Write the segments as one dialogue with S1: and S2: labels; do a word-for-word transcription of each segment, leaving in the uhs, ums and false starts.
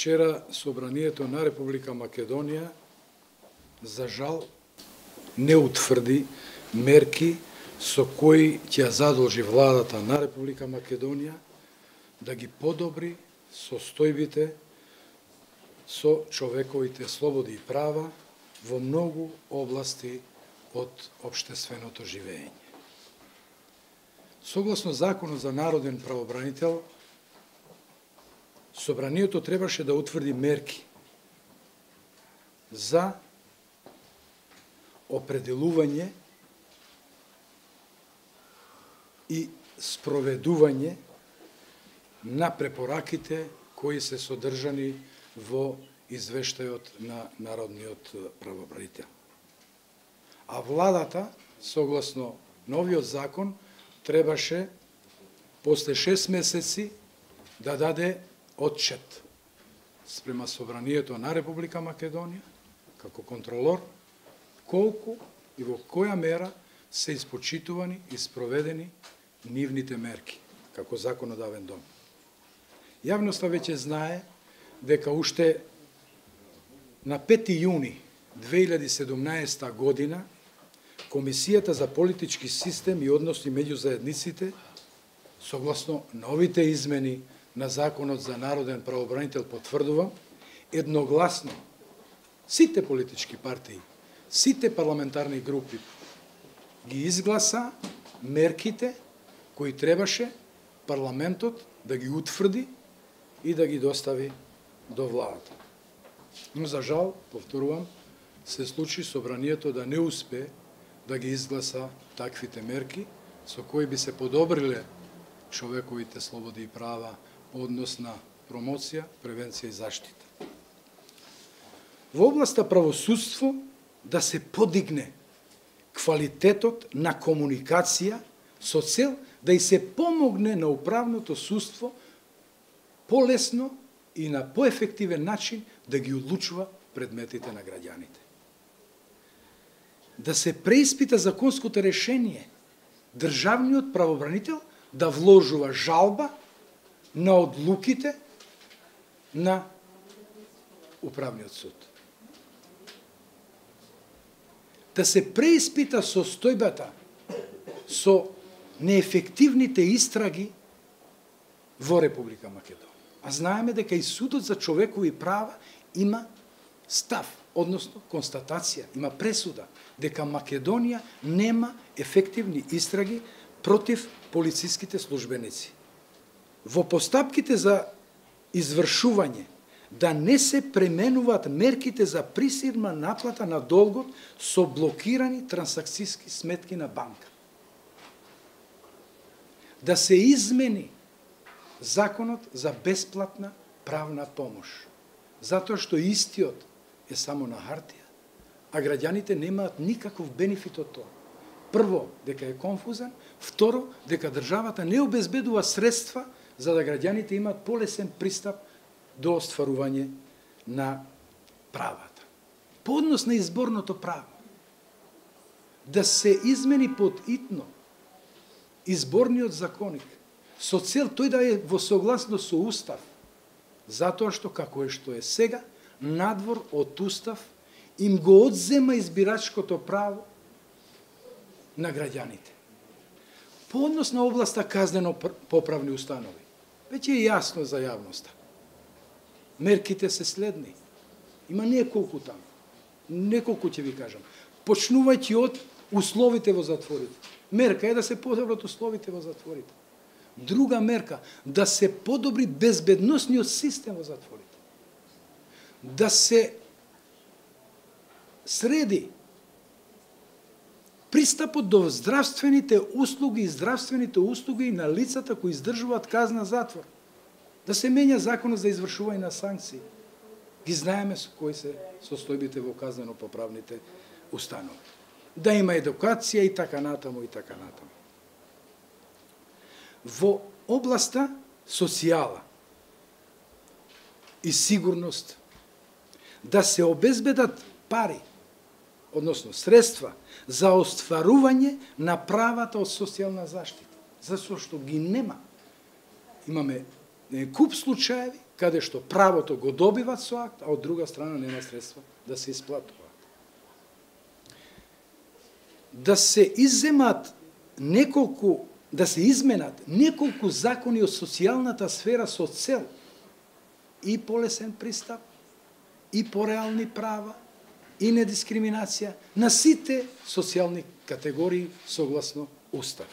S1: Вчера Собранието на Република Македонија, за жал, не утврди мерки со кои ќе задолжи владата на Република Македонија да ги подобри состојбите со човековите слободи и права во многу области од општественото живење. Согласно Законот за народен правобранител, Собранието требаше да утврди мерки за определување и спроведување на препораките кои се содржани во извештајот на народниот правобранител. А владата, согласно новиот закон, требаше после шест месеци да даде отчет спрема Собранието на Република Македонија, како контролор, колку и во која мера се испочитувани и спроведени нивните мерки, како законодавен дом. Јавноста веќе знае дека уште на пети јуни две илјади и седумнаесета година Комисијата за политички систем и односи меѓу заедниците, согласно новите измени на Законот за народен правобранител, потврдува едногласно сите политички партии, сите парламентарни групи ги изгласа мерките кои требаше парламентот да ги утврди и да ги достави до владата. Но за жал, повторувам, се случи Собранието да не успее да ги изгласа таквите мерки со кои би се подобриле човековите слободи и права по однос на промоција, превенција и заштита. Во областа правосудство да се подигне квалитетот на комуникација со цел да и се помогне на управното судство полесно и на поефективен начин да ги одлучува предметите на граѓаните. Да се преиспита законското решение, државниот правобранител да вложува жалба на одлуките на управниот суд. Да се преиспита состојбата со неефективните истраги во Република Македонија. А знаеме дека и Судот за човекови права има став, односно констатација, има пресуда, дека Македонија нема ефективни истраги против полициските службеници. Во постапките за извршување да не се пременуваат мерките за присилна наплата на долгот со блокирани трансакцијски сметки на банка. Да се измени Законот за бесплатна правна помош, затоа што истиот е само на хартија, а граѓаните немаат никаков бенефит од тоа. Прво, дека е конфузен, второ, дека државата не обезбедува средства за да граѓаните имаат полесен пристап до остварување на правата. По однос на изборното право, да се измени подитно изборниот законник, со цел тој да е во согласност со Устав, затоа што, како е што е сега, надвор од Устав им го одзема избирачкото право на граѓаните. По однос на областа казнено-поправни установи, веќе е јасно за јавноста. Мерките се следни. Има неколку таму. Неколку ќе ви кажам. Почнувајќи од условите во затворите. Мерка е да се подобрат условите во затворите. Друга мерка, да се подобри безбедносниот систем во затворите. Да се среди пристапот до здравствените услуги и здравствените услуги на лицата кои издржуваат казна затвор. Да се менја законот за извршување на санкции. Ги знаеме со кои се состојбите во казнено-поправните установи. Да има едукација и така натаму и така натаму. Во областа социјала и сигурност да се обезбедат пари, односно средства за остварување на правата од социјална заштита, затоа што ги нема. Имаме куп случаеви каде што правото го добиват со акт, а од друга страна нема средства да се исплатуваат. Да се изземат неколку, да се изменат неколку закони од социјалната сфера со цел и полесен пристап, и пореални права, и недискриминација на сите социјални категории согласно Устав.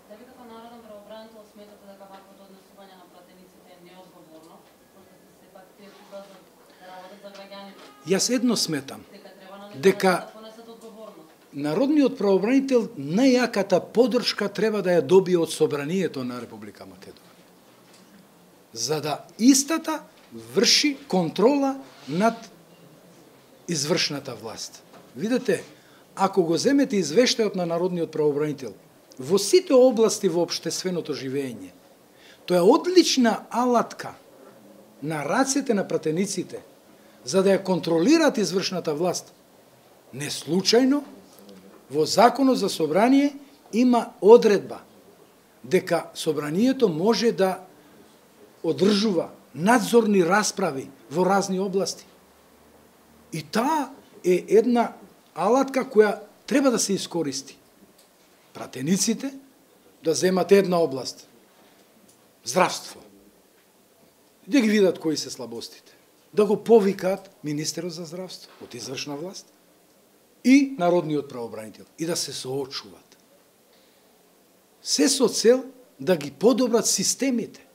S2: Дали како народен правобранител сметате дека ваквото однесување на пратениците е неодговорно, пошто се сепак тие кога да работат за граѓаните?
S1: Јас едно сметам,
S2: Дека треба на
S1: дека
S2: да понесат одговорност.
S1: народниот правобранител најаката поддршка треба да ја добие од Собранието на Република Македонија, за да истата врши контрола над извршната власт. Видете, ако го земете извештајот на народниот правобранител во сите области во општественото живење, тоа е одлична алатка на рацете на пратениците за да ја контролираат извршната власт. Не случајно во Законот за собрание има одредба дека собранието може да одржува надзорни расправи во разни области. И таа е една алатка која треба да се искористи. Пратениците да земат една област, здравство, да ги видат кои се слабостите, да го повикаат министерот за здравство од извршна власт и народниот правобранител и да се соочуваат. Се со цел да ги подобрат системите.